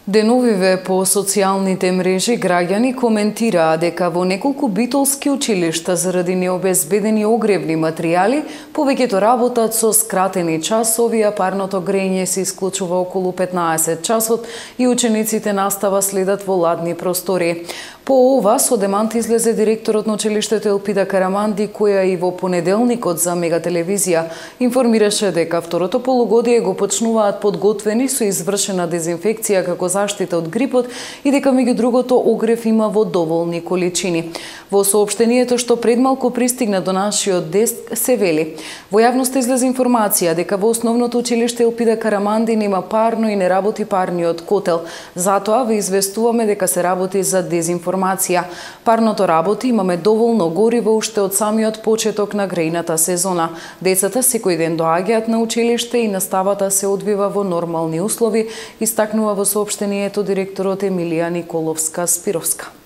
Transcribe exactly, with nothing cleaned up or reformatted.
Деновиве по социјалните мрежи граѓани коментираа дека во неколку битолски училишта заради необезбедени огревни материјали повеќето работат со скратени часови, а парното грење се исклучува околу петнаесет часот и учениците настава следат во ладни простори. По ова со демант излезе директорот на училиштето Елпида Караманди, која и во понеделникот за Мегателевизија информираше дека второто полугодие го почнуваат подготвени со извршена дезинфекција како заштита од грипот и дека меѓу другото огрев има во доволни количини. Во соопштението што предмалку пристигна до нашиот деск се вели: во јавноста излезе информација дека во основното училиште Елпида Караманди нема парно и не работи парниот котел. Затоа ве известуваме дека се работи за дезинформација. Парното работи, имаме доволно гориво уште од самиот почеток на грејната сезона. Децата секој ден доаѓаат на училиште и наставата се одвива во нормални услови, истакнува во соопштението директорот Емилија Николовска-Спировска.